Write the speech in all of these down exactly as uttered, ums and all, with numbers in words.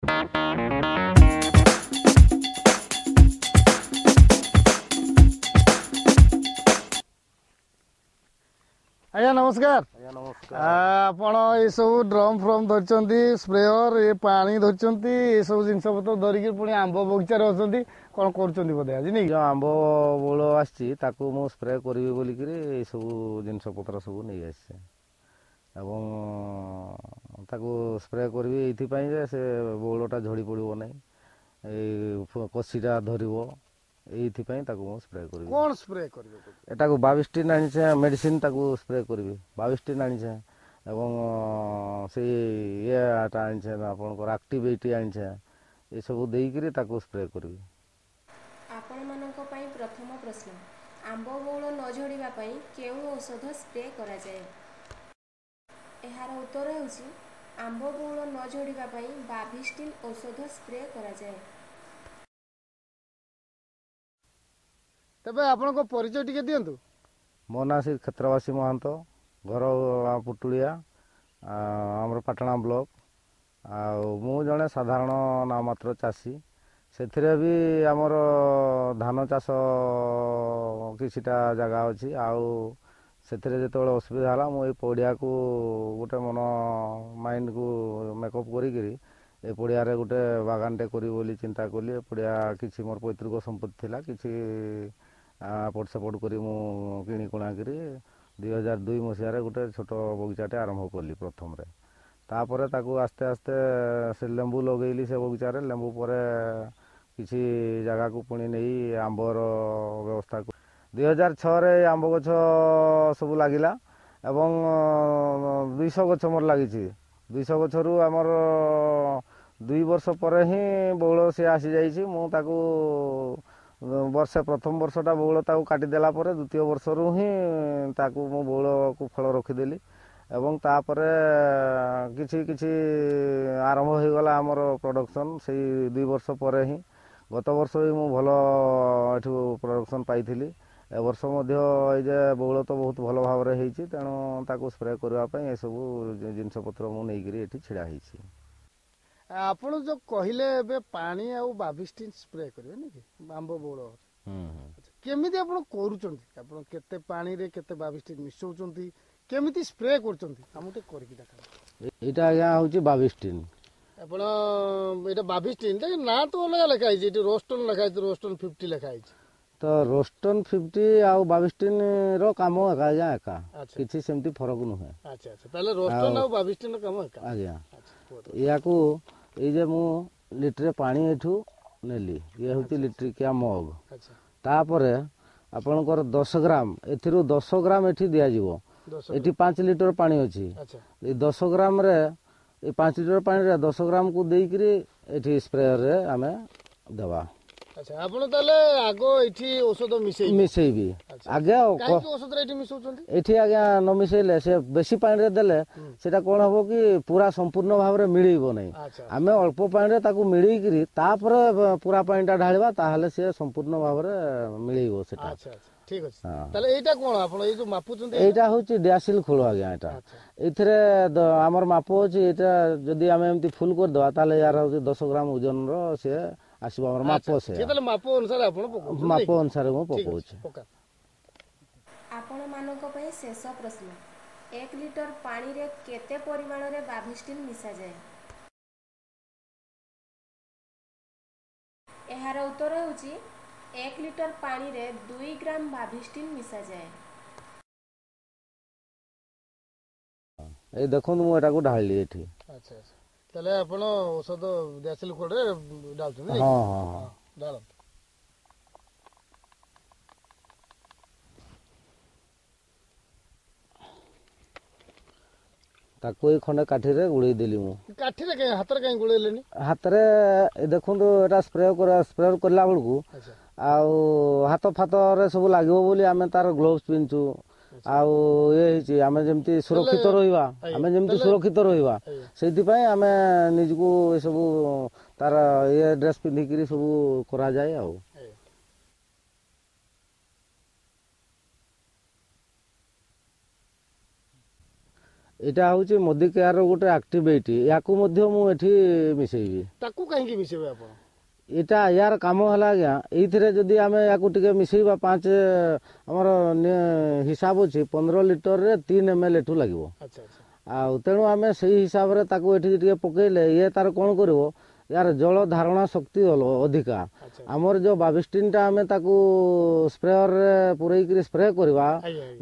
ଆଜ୍ଞା ନମସ୍କାର। ଆଜ୍ଞା ନମସ୍କାର। ଆପଣ ଏସବୁ ଡ୍ରମ୍ ଫ୍ରମ୍ ଧରିଛନ୍ତି, ସ୍ପ୍ରେୟର, ଏ ପାଣି ଧରିଛନ୍ତି, ଏସବୁ ଜିନିଷ ପତ୍ର ଧରିକି ପୁଣି ଆମ୍ବ ବଗିଚାରେ ଅଛନ୍ତି, କ'ଣ କରୁଛନ୍ତି ବୋଧେ ଆଜି ନାଇଁ? ଯେଉଁ ଆମ୍ବ ବଉଳ ଆସିଛି ତାକୁ ମୁଁ ସ୍ପ୍ରେ କରିବି ବୋଲିକିରି ଏସବୁ ଜିନିଷ ପତ୍ର ସବୁ ନେଇ ଆସିଛି, ଏବଂ ତାକୁ ସ୍ପ୍ରେ କରିବି ଏଇଥିପାଇଁ ଯେ ସେ ବଉଳଟା ଝଡ଼ି ପଡ଼ିବ ନାହିଁ, ଏଇ କଷିଟା ଧରିବ, ଏଇଥିପାଇଁ ତାକୁ ମୁଁ ସ୍ପ୍ରେ କରିବି। କ'ଣ ସ୍ପ୍ରେ କରିବେ? ଏଟାକୁ ବାବିଷ୍ଟିନ୍ ଆଣିଛେ ମେଡ଼ିସିନ, ତାକୁ ସ୍ପ୍ରେ କରିବି। ବାବିଷ୍ଟିନ୍ ଆଣିଛେ ଏବଂ ସେଇ ଇଏଟା ଆଣିଛେ, ଆପଣଙ୍କର ଆକ୍ଟିଭିଟି ଆଣିଛେ, ଏସବୁ ଦେଇକିରି ତାକୁ ସ୍ପ୍ରେ କରିବି। ଆପଣମାନଙ୍କ ପାଇଁ ପ୍ରଥମ ପ୍ରଶ୍ନ, ଆମ୍ବ ବଉଳ ନ ଝଡ଼ିବା ପାଇଁ କେଉଁ ଔଷଧ ସ୍ପ୍ରେ କରାଯାଏ? ଏହାର ଉତ୍ତର ହେଉଛି, ଆମ୍ବ ବଉଳ ନ ଝଡ଼ିବା ପାଇଁ ବାଭିଷ୍ଟିନ୍ ଔଷଧ ସ୍ପ୍ରେ କରାଯାଏ। ତେବେ ଆପଣଙ୍କ ପରିଚୟ ଟିକେ ଦିଅନ୍ତୁ। ମୋ ନାଁ ଶ୍ରୀ କ୍ଷେତ୍ରବାସୀ ମହାନ୍ତ, ଘର ପୁଟୁଳିଆ, ଆମର ପାଟଣା ବ୍ଲକ। ଆଉ ମୁଁ ଜଣେ ସାଧାରଣ ନାମମାତ୍ର ଚାଷୀ। ସେଥିରେ ବି ଆମର ଧାନ ଚାଷ କିଛିଟା ଜାଗା ଅଛି। ଆଉ ସେଥିରେ ଯେତେବେଳେ ଅସୁବିଧା ହେଲା, ମୁଁ ଏଇ ପଡ଼ିଆକୁ ଗୋଟେ ମନ ମାଇଣ୍ଡକୁ ମେକଅପ୍ କରିକିରି ଏ ପଡ଼ିଆରେ ଗୋଟେ ବାଗାନଟେ କରିବି ବୋଲି ଚିନ୍ତା କଲି। ଏ ପଡ଼ିଆ କିଛି ମୋର ପୈତୃକ ସମ୍ପତ୍ତି ଥିଲା, କିଛି ଏପଟ ସେପଟ କରି ମୁଁ କିଣି କୁଣାକିରି ଦୁଇ ହଜାର ଦୁଇ ମସିହାରେ ଗୋଟେ ଛୋଟ ବଗିଚାଟେ ଆରମ୍ଭ କଲି ପ୍ରଥମରେ। ତାପରେ ତାକୁ ଆସ୍ତେ ଆସ୍ତେ ସେ ଲେମ୍ବୁ ଲଗେଇଲି ସେ ବଗିଚାରେ। ଲେମ୍ବୁ ପରେ କିଛି ଜାଗାକୁ ପୁଣି ନେଇ ଆମ୍ବର ବ୍ୟବସ୍ଥା। ଦୁଇ ହଜାର ଛଅରେ ଆମ୍ବ ଗଛ ସବୁ ଲାଗିଲା ଏବଂ ଦୁଇଶହ ଗଛ ମୋର ଲାଗିଛି। ଦୁଇଶହ ଗଛରୁ ଆମର ଦୁଇ ବର୍ଷ ପରେ ହିଁ ବଉଳ ସିଏ ଆସିଯାଇଛି। ମୁଁ ତାକୁ ବର୍ଷେ, ପ୍ରଥମ ବର୍ଷଟା ବଉଳ ତାକୁ କାଟିଦେଲା ପରେ ଦ୍ୱିତୀୟ ବର୍ଷରୁ ହିଁ ତାକୁ ମୁଁ ବଉଳକୁ ଫଳ ରଖିଦେଲି, ଏବଂ ତାପରେ କିଛି କିଛି ଆରମ୍ଭ ହୋଇଗଲା ଆମର ପ୍ରଡ଼କ୍ସନ୍ ସେଇ ଦୁଇ ବର୍ଷ ପରେ ହିଁ। ଗତ ବର୍ଷ ବି ମୁଁ ଭଲ ଏଠୁ ପ୍ରଡ଼କ୍ସନ୍ ପାଇଥିଲି। ଏ ବର୍ଷ ମଧ୍ୟ ଏଇ ଯେ ବଉଳ ତ ବହୁତ ଭଲ ଭାବରେ ହେଇଛି, ତେଣୁ ତାକୁ ସ୍ପ୍ରେ କରିବା ପାଇଁ ଏସବୁ ଜିନିଷ ପତ୍ର ମୁଁ ନେଇକିରି ଏଠି ଛିଡ଼ା ହେଇଛି। ଆପଣ ଯେଉଁ କହିଲେ ଏବେ ପାଣି ଆଉ ବାଭିଷ୍ଟିନ୍ ସ୍ପ୍ରେ କରିବେ ନାଇଁ କି ଆମ୍ବ ବଉଳ, କେମିତି ଆପଣ କରୁଛନ୍ତି? ଆପଣ କେତେ ପାଣିରେ କେତେ ବାଭିଷ୍ଟିନ୍ ମିଶାଉଛନ୍ତି, କେମିତି ସ୍ପ୍ରେ କରୁଛନ୍ତି, ଆମକୁ ଟିକେ କରିକି ଦେଖାନ୍ତୁ। ଏଇଟା ଆଜ୍ଞା ହେଉଛି ବାଭିଷ୍ଟିନ୍। ଆପଣ ଏଇଟା ବାଭିଷ୍ଟିନ୍ ନା ତ ଅଲଗା ଲେଖା ହେଇଛି ଏଠି, ରୋଷ୍ଟନ୍ ଲେଖା ହେଇଛି, ରୋଷ୍ଟନ୍ ଫିଫ୍ଟି ଲେଖା ହେଇଛି। ତ ରୋଷ୍ଟନ୍ ଫିଫ୍ଟି ଆଉ ବାଭିଷ୍ଟିନ୍ ର କାମ ଏକା ଆଜ୍ଞା, ଏକା, କିଛି ସେମିତି ଫରକ ନୁହେଁ। ଆଚ୍ଛା ଆଚ୍ଛା, ତାହେଲେ ରୋଷ୍ଟନ୍ ଆଉ ବାଭିଷ୍ଟିନ୍ ର କାମ ଏକା ଆଜ୍ଞା। ୟାକୁ ଏଇ ଯେ ମୁଁ ଲିଟରେ ପାଣି ଏଠୁ ନେଲି, ଇଏ ହେଉଛି ଲିଟ୍ରିକିଆ ମଗ। ତାପରେ ଆପଣଙ୍କର ଦଶ ଗ୍ରାମ, ଏଥିରୁ ଦଶ ଗ୍ରାମ ଏଠି ଦିଆଯିବ। ଏଠି ପାଞ୍ଚ ଲିଟର ପାଣି ଅଛି, ଏଇ ଦଶ ଗ୍ରାମରେ, ଏଇ ପାଞ୍ଚ ଲିଟର ପାଣିରେ ଦଶ ଗ୍ରାମକୁ ଦେଇକିରି ଏଠି ସ୍ପ୍ରେୟରରେ ଆମେ ଦେବା। ଆଚ୍ଛା, ଆପଣ ତାହେଲେ ଆଗ ଏଠି ଔଷଧ ମିଶେଇ ମିଶେଇବି ଆଜ୍ଞା। ଔଷଧ ଏଠି ମିଶଉଛନ୍ତି? ଏଠି ଆଜ୍ଞା ନ ମିଶେଇଲେ, ସେ ବେଶୀ ପାଣିରେ ଦେଲେ ସେଟା କ'ଣ ହବ କି ପୁରା ସମ୍ପୂର୍ଣ୍ଣ ଭାବରେ ମିଳେଇବ ନାହିଁ। ଆମେ ଅଳ୍ପ ପାଣିରେ ତାକୁ ମିଳେଇକିରି ତାପରେ ପୁରା ପାଣିଟା ଢାଳିବା, ତାହେଲେ ସିଏ ସମ୍ପୂର୍ଣ୍ଣ ଭାବରେ ମିଳେଇବ ସେଟା। ଠିକ ଅଛି। ତାହେଲେ ଏଇଟା କ'ଣ ଆପଣ ଏଇ ଯୋଉ ମାପୁଛନ୍ତି? ଏଇଟା ହଉଛି ଡିଆସିଲ ଖୋଳ ଆଜ୍ଞା। ଏଇଟା ଏଇଥିରେ ଆମର ମାପ ଅଛି। ଏଇଟା ଯଦି ଆମେ ଏମିତି ଫୁଲ କରିଦେବା, ତାହେଲେ ୟାର ହଉଛି ଦଶ ଗ୍ରାମ ଓଜନର ସିଏ ଆସିବ ଆମର ମାପ। ସେ ମାପ ଅନୁସାରେ ଆପଣ ମାପ ଅନୁସାରେ ମୁଁ ପକଉଛି। ଆପଣମାନଙ୍କ ପାଇଁ ଶେଷ ପ୍ରଶ୍ନ, ଏକ ଲିଟର ପାଣିରେ କେତେ ପରିମାଣରେ ବାଭିଷ୍ଟିନ୍ ମିଶାଯାଏ? ଏହାର ଉତ୍ତର ହେଉଛି, ଏକ ଲିଟର ପାଣିରେ ଦୁଇ ଗ୍ରାମ ବାଭିଷ୍ଟିନ୍ ମିଶାଯାଏ। ଏଇ ଦେଖନ୍ତୁ, ମୁଁ ଏଟାକୁ ଢାଳିଲି ଏଠି। ଆଚ୍ଛା ଆଚ୍ଛା, ତାହେଲେ ଆପଣ ଔଷଧ ଦିଆସିଲ ଖୋଳରେ ଢାଳୁଛନ୍ତି? ହଁ ହଁ ହଁ, ଢାଳନ୍ତୁ। ତାକୁ ଏଇ ଖଣ୍ଡେ କାଠିରେ ଗୁଳେଇ ଦେଲି ମୁଁ। କାଠିରେ କାଇଁ, ହାତରେ କାହିଁ ଗୋଳେଇଲେନି? ହାତରେ ଦେଖନ୍ତୁ, ଏଟା ସ୍ପ୍ରେ ସ୍ପ୍ରେ କଲା ବେଳକୁ ଆଉ ହାତ ଫାତରେ ସବୁ ଲାଗିବ ବୋଲି ଆମେ ତାର ଗ୍ଲୋଭ୍ସ ପିନ୍ଧୁଛୁ। ଆଉ ଇଏ ହେଇଛି ଆମେ ଯେମିତି ସୁରକ୍ଷିତ ରହିବା, ଆମେ ଯେମିତି ସୁରକ୍ଷିତ ରହିବା ସେଇଥିପାଇଁ ଆମେ ନିଜକୁ ଏସବୁ ତାର ଇଏ ଡ୍ରେସ୍ ପିନ୍ଧିକିରି ସବୁ କରାଯାଏ। ଆଉ ଏଇଟା ହେଉଛି ମୋଦି କେୟାରର ଗୋଟେ ଆକ୍ଟିଭିଟି, ୟାକୁ ମଧ୍ୟ ମୁଁ ଏଠି ମିଶେଇବି। ତାକୁ କାହିଁକି ମିଶେଇବେ ଆପଣ? ଏଇଟା ୟାର କାମ ହେଲା ଆଜ୍ଞା, ଏଇଥିରେ ଯଦି ଆମେ ୟାକୁ ଟିକେ ମିଶେଇବା, ପାଞ୍ଚ ଆମର ହିସାବ ଅଛି ପନ୍ଦର ଲିଟରରେ ତିନି ଏମ୍ ଏଲ୍ ଏଠୁ ଲାଗିବ। ଆଉ ତେଣୁ ଆମେ ସେଇ ହିସାବରେ ତାକୁ ଏଠି ଟିକେ ପକେଇଲେ ଇଏ ତାର କ'ଣ କରିବ, ୟାର ଜଳ ଧାରଣା ଶକ୍ତି ଅଧିକା। ଆମର ଯେଉଁ ବାବିଷ୍ଟିନଟା ଆମେ ତାକୁ ସ୍ପ୍ରେୟରରେ ପୁରେଇକିରି ସ୍ପ୍ରେ କରିବା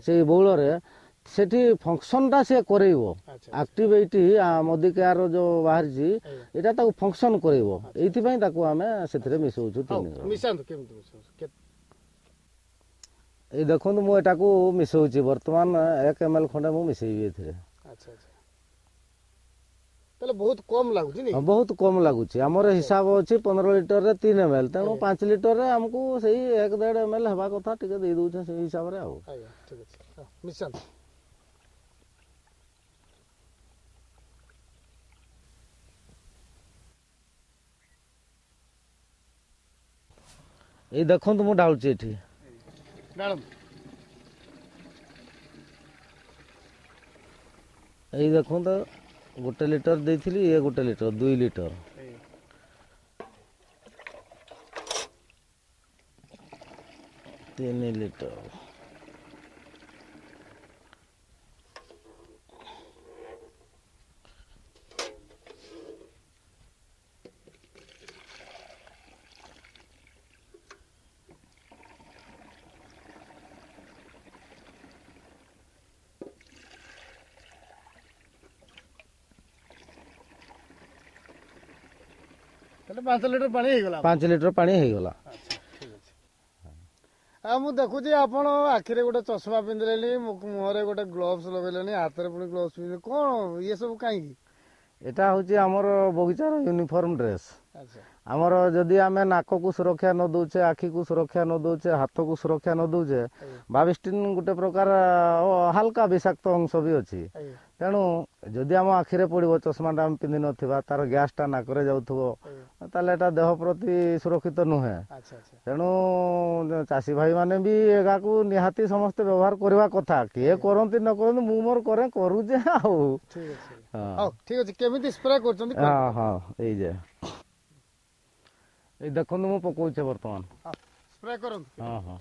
ସେଇ ବଉଳରେ, ସେଠି ଫଙ୍କସନଟା ସିଏ କରେଇବ। ଆକ୍ଟିଭିଟି ମୋଦି କେୟାର ଯୋଉ ବାହାରିଛି ଏଇଟା ତାକୁ ଫଙ୍କସନ କରେଇବ, ଏଇଥିପାଇଁ ତାକୁ ଆମେ ସେଥିରେ ମିଶଉଛୁ। ତିନି ଏଇ ଦେଖନ୍ତୁ ମୁଁ ଏଟାକୁ ମିଶଉଛି ବର୍ତ୍ତମାନ, ଏକ ଏମ୍ ଏଲ୍ ଖଣ୍ଡେ ମୁଁ ମିଶେଇବି ଏଥିରେ। ତାହେଲେ ବହୁତ କମ ଲାଗୁଛି? ବହୁତ କମ ଲାଗୁଛି। ଆମର ହିସାବ ଅଛି ପନ୍ଦର ଲିଟରରେ ତିନି ଏମ୍ ଏଲ୍, ତେଣୁ ପାଞ୍ଚ ଲିଟରରେ ଆମକୁ ସେଇ ଏକ ଦେଢ଼ ଏମ୍ ଏଲ୍ ହେବା କଥା, ଟିକେ ଦେଇ ଦଉଛେ ସେଇ ହିସାବରେ। ଆଉ ଠିକ ଅଛି, ମିଶାନ୍ତୁ। ଏଇ ଦେଖନ୍ତୁ ମୁଁ ଢାଳୁଛି ଏଠି। ଏଇ ଦେଖନ୍ତୁ ଗୋଟେ ଲିଟର ଦେଇଥିଲି, ଇଏ ଗୋଟେ ଲିଟର, ଦୁଇ ଲିଟର, ତିନି ଲିଟର। ତାହେଲେ ପାଞ୍ଚ ଲିଟର ପାଣି ହେଇଗଲା? ପାଞ୍ଚ ଲିଟର ପାଣି ହେଇଗଲା। ଠିକ ଅଛି। ଆଉ ମୁଁ ଦେଖୁଛି ଆପଣ ଆଖିରେ ଗୋଟେ ଚଷମା ପିନ୍ଧିଲେଣି, ମୁହଁରେ ଗୋଟେ ଗ୍ଲୋଭ୍ସ ଲଗେଇଲେଣି, ହାତରେ ପୁଣି ଗ୍ଲୋଭ୍ସ ପିନ୍ଧିଲେ, କ'ଣ ଇଏ ସବୁ କାହିଁକି? ଏଟା ହେଉଛି ଆମର ବଗିଚାର ୟୁନିଫର୍ମ ଡ୍ରେସ୍। ଆମର ଯଦି ଆମେ ନାକକୁ ସୁରକ୍ଷା ନ ଦଉଛେ, ଆଖିକୁ ସୁରକ୍ଷା ନ ଦଉଛେ, ହାତକୁ ସୁରକ୍ଷା ନ ଦଉଛେ, ବାବିଷ୍ଟିନ୍ ଗୋଟେ ପ୍ରକାର ହାଲକା ବିଷାକ୍ତ ଅଂଶ ବି ଅଛି। ତେଣୁ ଯଦି ଆମ ଆଖିରେ ପଡ଼ିବ, ଚଷମାଟା ଆମେ ପିନ୍ଧି ନଥିବା, ତାର ଗ୍ୟାସଟା ନାକରେ ଯାଉଥିବ, ତାହେଲେ ଏଟା ଦେହ ପ୍ରତି ସୁରକ୍ଷିତ ନୁହେଁ। ତେଣୁ ଚାଷୀ ଭାଇମାନେ ବି ଏହାକୁ ନିହାତି ସମସ୍ତେ ବ୍ୟବହାର କରିବା କଥା। କିଏ କରନ୍ତି ନ କରନ୍ତି, ମୁଁ ମୋର କରେ, କରୁଛେ। ଆଉ ଠିକ ଅଛି, କେମିତି ସ୍ପ୍ରେ କରୁଛନ୍ତି? ହଁ ହଁ, ଏଇ ଯେ ଏଇ ଦେଖନ୍ତୁ ମୁଁ ପକଉଛି ବର୍ତ୍ତମାନ। ସ୍ପ୍ରେ କରନ୍ତୁ। ହଁ ହଁ।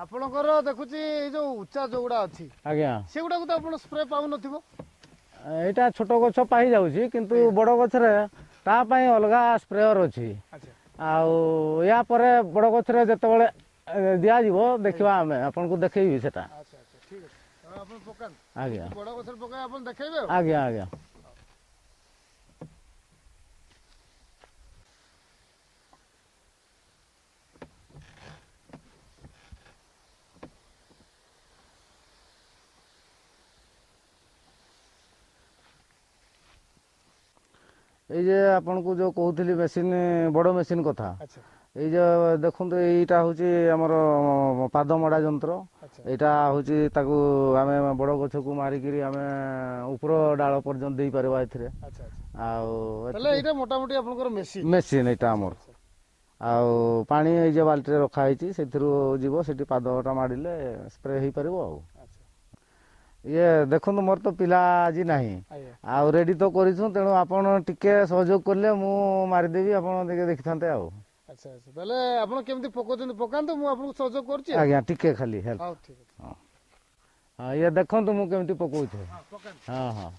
ଆପଣଙ୍କର ଦେଖୁଛି ଏଇ ଯୋଉ ଉଚ୍ଚା ଯୋଉଗୁଡା ଅଛି ଆଜ୍ଞା, ସେଗୁଡାକୁ ତ ଆପଣ ସ୍ପ୍ରେ ପାଉନଥିବ? ଏଇଟା ଛୋଟ ଗଛ ପାଇ ଯାଉଛି, କିନ୍ତୁ ବଡ଼ ଗଛରେ ତା ପାଇଁ ଅଲଗା ସ୍ପ୍ରେୟର ଅଛି। ଆଉ ୟା ପରେ ବଡ଼ ଗଛରେ ଯେତେବେଳେ ଦିଆଯିବ ଦେଖିବା, ଆମେ ଆପଣଙ୍କୁ ଦେଖେଇବି ସେଟା। ଆଜ୍ଞା ଆଜ୍ଞା ଆଜ୍ଞା। ଏଇ ଯେ ଆପଣଙ୍କୁ ଯୋଉ କହୁଥିଲି ମେସିନ୍, ବଡ଼ ମେସିନ୍ କଥା, ଏଇ ଯେ ଦେଖନ୍ତୁ ଏଇଟା ହେଉଛି ଆମର ପାଦ ମଡ଼ା ଯନ୍ତ୍ର। ଏଇଟା ହେଉଛି ତାକୁ ଆମେ ବଡ଼ ଗଛକୁ ମାରିକିରି ଆମେ ଉପର ଡାଳ ପର୍ଯ୍ୟନ୍ତ ଦେଇପାରିବା ଏଥିରେ। ଆଉ ଏଇଟା ମୋଟାମୋଟି ଆପଣଙ୍କର ମେସିନ୍? ମେସିନ୍ ଏଇଟା ଆମର। ଆଉ ପାଣି ଏଇ ଯେ ବାଲ୍ଟିରେ ରଖା ହେଇଛି, ସେଥିରୁ ଯିବ, ସେଠି ପାଦଟା ମାଡ଼ିଲେ ସ୍ପ୍ରେ ହେଇପାରିବ। ଆଉ ଇଏ ଦେଖନ୍ତୁ ମୋର ତ ପିଲା ଆଜି ନାହିଁ, ଆଉ ରେଡି ତ କରିଛୁ, ତେଣୁ ଆପଣ ଟିକେ ସହଯୋଗ କଲେ ମୁଁ ମାରିଦେବି, ଆପଣ ଟିକେ ଦେଖିଥାନ୍ତେ। ଆଉ ଆଚ୍ଛା ଆଚ୍ଛା, ତାହେଲେ ଆପଣ କେମିତି ପକଉଛନ୍ତି ପକାନ୍ତୁ, ମୁଁ ଆପଣଙ୍କୁ ସହଯୋଗ କରୁଛି। ଆଜ୍ଞା, ଟିକେ ଖାଲି ହେଲ୍ପ। ହଁ ହଁ, ଇଏ ଦେଖନ୍ତୁ ମୁଁ କେମିତି ପକଉଛି। ହଁ ହଁ।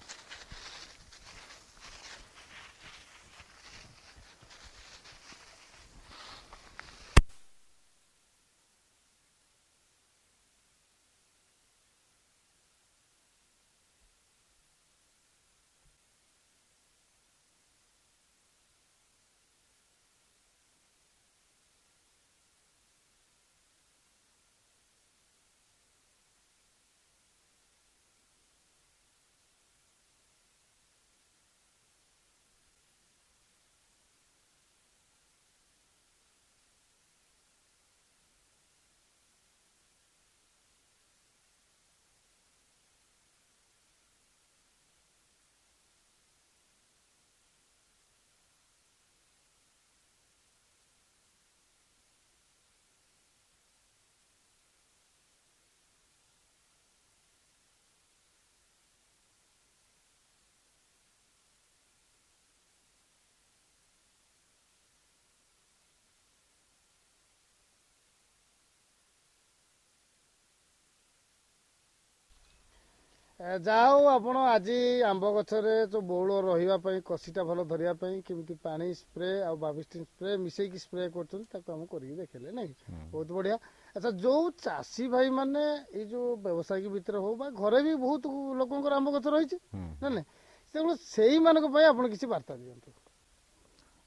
ଯାହା ହଉ, ଆପଣ ଆଜି ଆମ୍ବ ଗଛରେ ଯେଉଁ ବଉଳ ରହିବା ପାଇଁ, କଷିଟା ଭଲ ଧରିବା ପାଇଁ କେମିତି ପାଣି ସ୍ପ୍ରେ ଆଉ ବାବିଷ୍ଟିନ୍ ସ୍ପ୍ରେ ମିଶେଇକି ସ୍ପ୍ରେ କରୁଛନ୍ତି, ତାକୁ ଆମକୁ କରିକି ଦେଖେଇଲେ, ନାଇଁ? ବହୁତ ବଢ଼ିଆ। ଆଚ୍ଛା, ଯେଉଁ ଚାଷୀ ଭାଇମାନେ ଏଇ ଯେଉଁ ବ୍ୟବସାୟିକ ଭିତରେ ହଉ ବା ଘରେ ବି ବହୁତ ଲୋକଙ୍କର ଆମ୍ବ ଗଛ ରହିଛି, ନା ନାଇଁ, ତେଣୁ ସେଇମାନଙ୍କ ପାଇଁ ଆପଣ କିଛି ବାର୍ତ୍ତା ଦିଅନ୍ତୁ।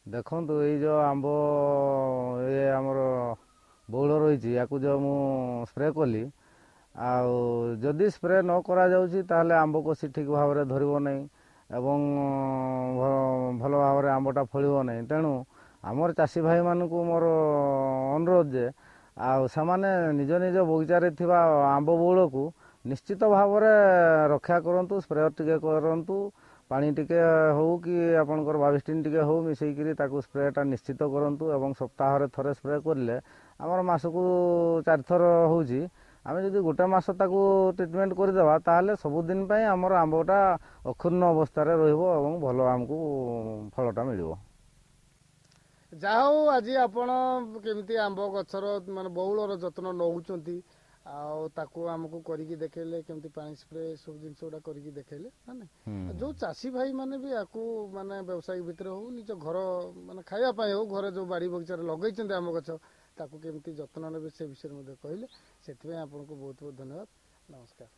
ଦେଖନ୍ତୁ, ଏଇ ଯେଉଁ ଆମ୍ବ ଏ ଆମର ବଉଳ ରହିଛି, ୟାକୁ ଯେଉଁ ମୁଁ ସ୍ପ୍ରେ କଲି, ଆଉ ଯଦି ସ୍ପ୍ରେ ନ କରାଯାଉଛି ତାହେଲେ ଆମ୍ବ କଷି ଠିକ୍ ଭାବରେ ଧରିବ ନାହିଁ ଏବଂ ଭଲ ଭାବରେ ଆମ୍ବଟା ଫଳିବ ନାହିଁ। ତେଣୁ ଆମର ଚାଷୀ ଭାଇମାନଙ୍କୁ ମୋର ଅନୁରୋଧ ଯେ ଆଉ ସେମାନେ ନିଜ ନିଜ ବଗିଚାରେ ଥିବା ଆମ୍ବ ବଉଳକୁ ନିଶ୍ଚିତ ଭାବରେ ରକ୍ଷା କରନ୍ତୁ। ସ୍ପ୍ରେ ଟିକେ କରନ୍ତୁ, ପାଣି ଟିକେ ହଉ କି ଆପଣଙ୍କର ବାବିଷ୍ଟିନ୍ ଟିକେ ହଉ, ମିଶେଇକିରି ତାକୁ ସ୍ପ୍ରେଟା ନିଶ୍ଚିତ କରନ୍ତୁ। ଏବଂ ସପ୍ତାହରେ ଥରେ ସ୍ପ୍ରେ କରିଲେ ଆମର ମାସକୁ ଚାରିଥର ହେଉଛି। ଆମେ ଯଦି ଗୋଟେ ମାସ ତାକୁ ଟ୍ରିଟମେଣ୍ଟ କରିଦେବା, ତାହେଲେ ସବୁଦିନ ପାଇଁ ଆମର ଆମ୍ବଟା ଅକ୍ଷୁଣ୍ଣ ଅବସ୍ଥାରେ ରହିବ ଏବଂ ଭଲ ଆମକୁ ଫଳଟା ମିଳିବ। ଯାହା ହଉ, ଆଜି ଆପଣ କେମିତି ଆମ୍ବ ଗଛର ମାନେ ବଉଳର ଯତ୍ନ ନେଉଛନ୍ତି ଆଉ ତାକୁ ଆମକୁ କରିକି ଦେଖେଇଲେ, କେମିତି ପାଣି ସ୍ପ୍ରେ ସବୁ ଜିନିଷ ଗୁଡ଼ା କରିକି ଦେଖେଇଲେ, ମାନେ ଯୋଉ ଚାଷୀ ଭାଇ ମାନେ ବି ୟାକୁ ମାନେ ବ୍ୟବସାୟିକ ଭିତରେ ହଉ, ନିଜ ଘର ମାନେ ଖାଇବା ପାଇଁ ହଉ, ଘରେ ଯୋଉ ବାଡ଼ି ବଗିଚାରେ ଲଗେଇଛନ୍ତି ଆମ୍ବ ଗଛ, ତାକୁ କେମିତି ଯତ୍ନ ନେବେ ସେ ବିଷୟରେ ମଧ୍ୟ କହିଲେ। ସେଥିପାଇଁ ଆପଣଙ୍କୁ ବହୁତ ବହୁତ ଧନ୍ୟବାଦ। ନମସ୍କାର।